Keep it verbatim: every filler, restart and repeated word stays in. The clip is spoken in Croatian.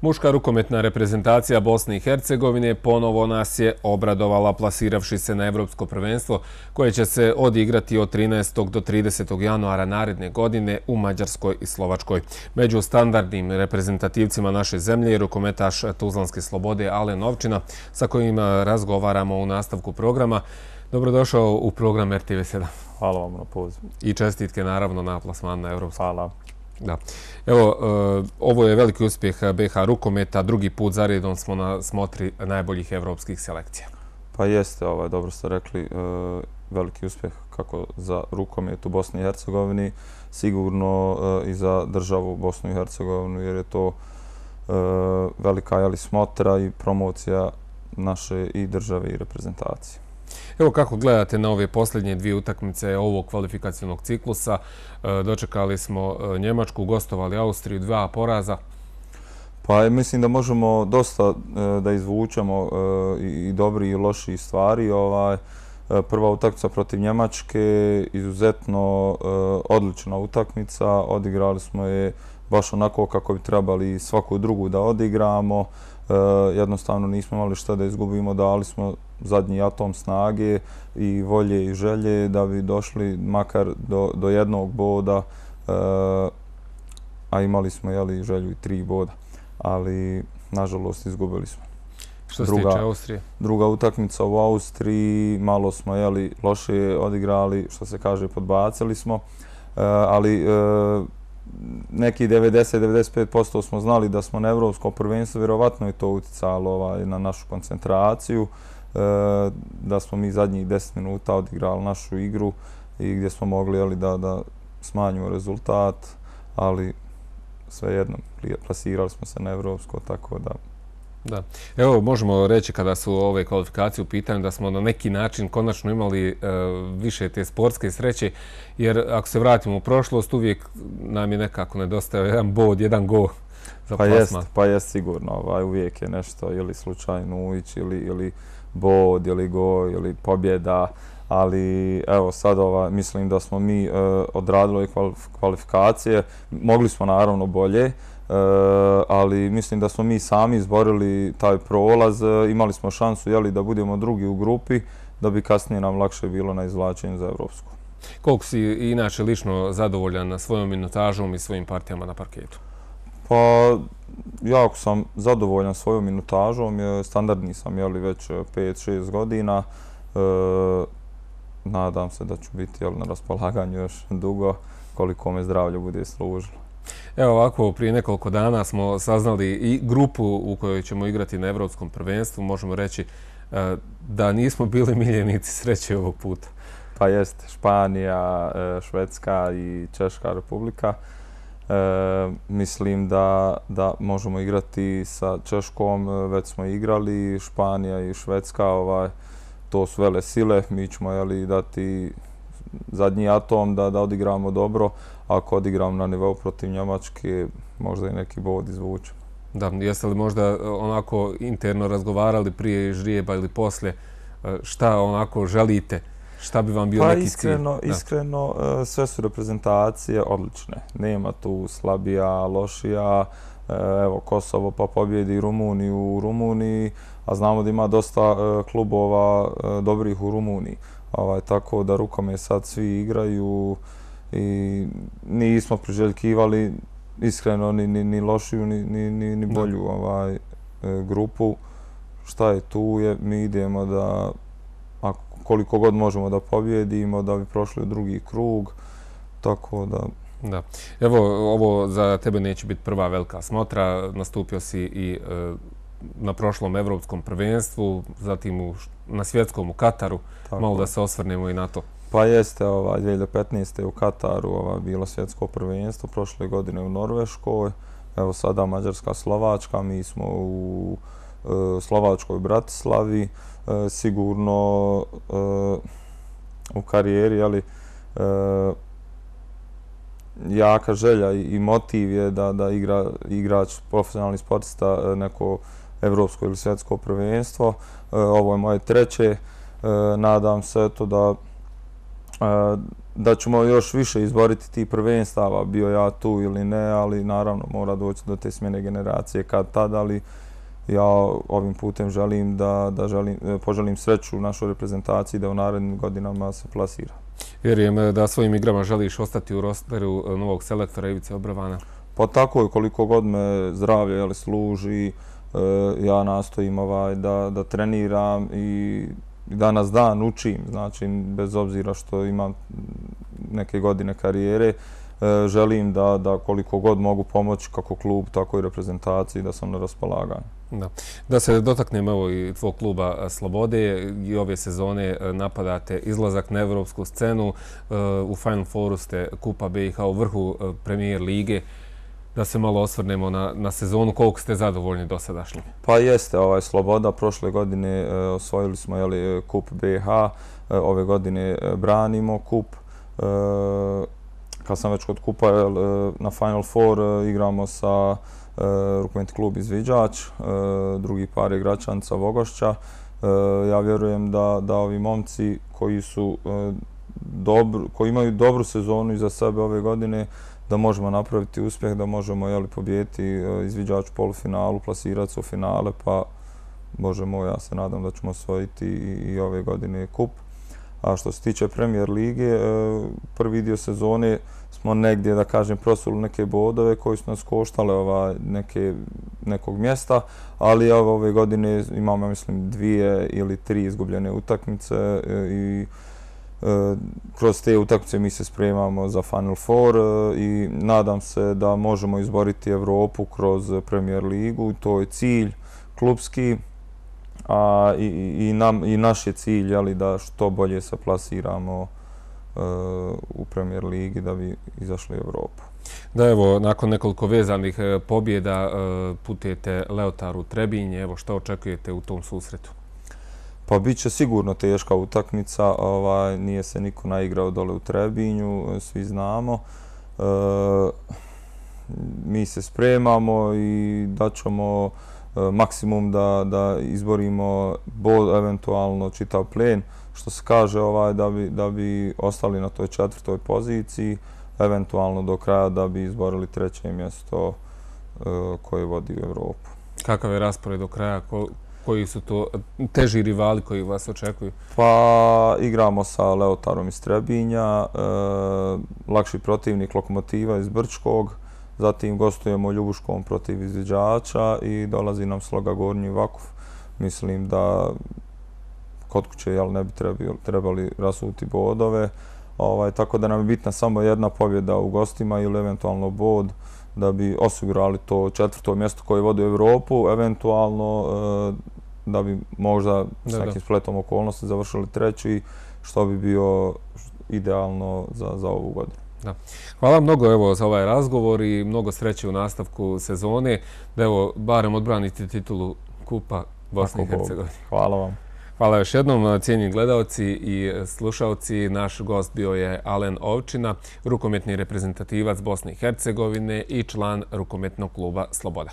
Muška rukometna reprezentacija Bosne i Hercegovine ponovo nas je obradovala plasiravši se na Evropsko prvenstvo koje će se odigrati od trinaestog do tridesetog januara naredne godine u Mađarskoj i Slovačkoj. Među standardnim reprezentativcima naše zemlje je rukometaš Tuzlanske Slobode Alen Ovčina sa kojim razgovaramo u nastavku programa. Dobrodošao u program R T V sedam. Hvala vam na pozivu. I čestitke naravno na plasman na Evropsku. Hvala. Da. Evo, ovo je veliki uspjeh B H rukometa. Drugi put zaredom smo na smotri najboljih evropskih selekcija. Pa jeste, ovaj, dobro ste rekli, veliki uspjeh kako za rukomet u Bosni i Hercegovini, sigurno i za državu Bosnu i Hercegovinu, jer je to velika jeli, smotra i promocija naše i države i reprezentacije. Evo kako gledate na ove posljednje dvije utakmice ovog kvalifikacionog ciklusa. Dočekali smo Njemačku, gostovali Austriju, dva poraza. Pa mislim da možemo dosta da izvučemo i dobri i loši stvari. Ovaj, prva utakmica protiv Njemačke, izuzetno odlična utakmica. Odigrali smo je baš onako kako bi trebali svaku drugu da odigramo. Jednostavno nismo imali šta da izgubimo, dali smo zadnji atom snage i volje i želje da bi došli makar do, do jednog boda, a imali smo jeli, želju i tri boda, ali nažalost izgubili smo. Što se tiče Austrije? Druga utakmica u Austriji, malo smo jeli, loše odigrali, što se kaže podbacili smo, ali neki devedeset do devedeset pet posto smo znali da smo na Evropskom prvenstvu, vjerovatno je to uticalo ovaj, na našu koncentraciju, da smo mi zadnjih deset minuta odigrali našu igru i gdje smo mogli jeli, da, da smanjimo rezultat, ali svejedno plasirali smo se na Evropsko, tako da... Da. Evo, možemo reći kada su ove kvalifikacije u pitanju da smo na neki način konačno imali e, više te sportske sreće, jer ako se vratimo u prošlost, uvijek nam je nekako nedostajao jedan bod, jedan go za pa plasman. Jest, pa jest sigurno, ovaj, uvijek je nešto ili slučajno ući ili, ili bod, ili go, ili pobjeda, ali evo sad ova, mislim da smo mi e, odradili kvalifikacije, mogli smo naravno bolje, Uh, ali mislim da smo mi sami izborili taj prolaz, uh, imali smo šansu jeli, da budemo drugi u grupi, da bi kasnije nam lakše bilo na izvlačenju za Evropsku. Koliko si inače lično zadovoljan svojom minutažom i svojim partijama na parketu? Pa, jako sam zadovoljan svojom minutažom, standardni sam jeli, već pet šest godina, uh, nadam se da ću biti jeli, na raspolaganju još dugo, koliko me zdravlje bude služilo. Evo ovako, prije nekoliko dana smo saznali i grupu u kojoj ćemo igrati na Evropskom prvenstvu. Možemo reći da nismo bili miljenici sreće ovog puta. Pa jeste, Španija, Švedska i Češka republika. E, mislim da, da možemo igrati sa Češkom, već smo igrali, Španija i Švedska, ovaj, to su vele sile, mi ćemo jeli, dati zadnji atom da, da odigramo dobro. Ako odigram na nivou protiv Njemačke, možda i neki bod izvučemo. Da, jeste li možda onako interno razgovarali prije žrijeba ili poslije, šta onako želite, šta bi vam bio pa neki cilj? Iskreno, iskreno sve su reprezentacije odlične. Nema tu slabija, lošija. Evo, Kosovo pa pobjedi Rumuniju u Rumuniji, a znamo da ima dosta klubova dobrih u Rumuniji. Ovaj, tako da rukomet sad svi igraju i nismo priželjkivali iskreno ni, ni, ni lošiju ni, ni, ni bolju ovaj, grupu. Šta je tu je, mi idemo da ako, koliko god možemo da pobjedimo, da bi prošli u drugi krug, tako da... Da. Evo, ovo za tebe neće biti prva velika smotra, nastupio si i e, na prošlom Evropskom prvenstvu, zatim u, na svjetskom u Kataru, tako. Malo da se osvrnemo i na to. Pa jeste, ovaj, dvije hiljade petnaeste. u Kataru ovaj, bilo svjetsko prvenstvo, prošle godine u Norveškoj, evo sada Mađarska, Slovačka, mi smo u e, Slovačkoj Bratislavi, e, sigurno e, u karijeri, ali e, jaka želja i, i motiv je da, da igra, igrač, profesionalni sportista neko evropsko ili svjetsko prvenstvo. E, ovo je moje treće, e, nadam se to da Da ćemo još više izboriti ti prvenstava, bio ja tu ili ne, ali naravno mora doći do te smjene generacije kad tad, ali ja ovim putem želim da, da želim, poželim sreću našoj reprezentaciji da u narednim godinama se plasira. Vjerujem da svojim igrama želiš ostati u rosteru novog selektora Ivice Obravana. Pa tako je, koliko god me zdravlje jeli, služi, ja nastojim ovaj, da, da treniram i danas dan učim, znači bez obzira što imam neke godine karijere, želim da, da koliko god mogu pomoći kako klub, tako i reprezentaciji, da sam na raspolaganju. Da. Da se dotaknem evo i tvog kluba Slobode, i ove sezone napadate izlazak na evropsku scenu, u Final Fouru ste Kupa B i H u vrhu Premier lige. Da se malo osvrnemo na, na sezonu, koliko ste zadovoljni dosadašnjim? Pa jeste, ovaj, Sloboda prošle godine e, osvojili smo jeli, Kup B H, e, ove godine e, branimo Kup. E, kad sam već kod Kupa, e, na Final Four e, igramo sa e, Rukometni klub Izviđač, e, drugi par je Gračanca Vogošća. E, ja vjerujem da, da ovi momci koji su e, dobru, koji imaju dobru sezonu iza sebe ove godine, da možemo napraviti uspjeh, da možemo jeli, pobijeti Izviđač u polufinalu, plasirati se u finale, pa možemo, ja se nadam da ćemo osvojiti i, i ove godine kup. A što se tiče Premier lige, prvi dio sezone smo negdje, da kažem, prosuli neke bodove koji su nas koštale ovaj, neke, nekog mjesta, ali ove godine imamo, mislim, dvije ili tri izgubljene utakmice i kroz te utakmice mi se spremamo za Final Four i nadam se da možemo izboriti Evropu kroz Premier ligu. To je cilj klubski, a i, i, nam, i naš je cilj jeli, da što bolje se plasiramo uh, u Premier ligi da bi izašli u Evropu. Da, evo, nakon nekoliko vezanih pobjeda uh, putujete Leotaru Trebinje. Evo, što očekujete u tom susretu? Pa bit će sigurno teška utakmica, ovaj, nije se niko naigrao dole u Trebinju, svi znamo. E, mi se spremamo i daćemo e, maksimum da, da izborimo bod, eventualno čitav plen, što se kaže ovaj, da, bi, da bi ostali na toj četvrtoj poziciji, eventualno do kraja da bi izborili treće mjesto e, koje vodi u Evropu. Kakav je raspored do kraja? Ko... Koji su to teži rivali koji vas očekuju? Pa igramo sa Leotarom iz Trebinja, e, lakši protivnik Lokomotiva iz Brčkog, zatim gostujemo Ljubuškom protiv Izviđača i dolazi nam Sloga Gornji Vakuf. Mislim da kod kuće jel, ne bi trebali, trebali rasuti bodove, ovaj, tako da nam je bitna samo jedna pobjeda u gostima ili eventualno bod da bi osigurali to četvrto mjesto koje vodi u Evropu, eventualno e, da bi možda s da, nekim da. spletom okolnosti završili treći, što bi bio idealno za, za ovu godinu. Da. Hvala mnogo evo, za ovaj razgovor i mnogo sreće u nastavku sezone, da evo, barem odbranite titulu Kupa Bosne i Hercegovine. Hvala vam. Hvala još jednom, cijenjeni gledalci i slušalci. Naš gost bio je Alen Ovčina, rukometni reprezentativac Bosne i Hercegovine i član rukometnog kluba Sloboda.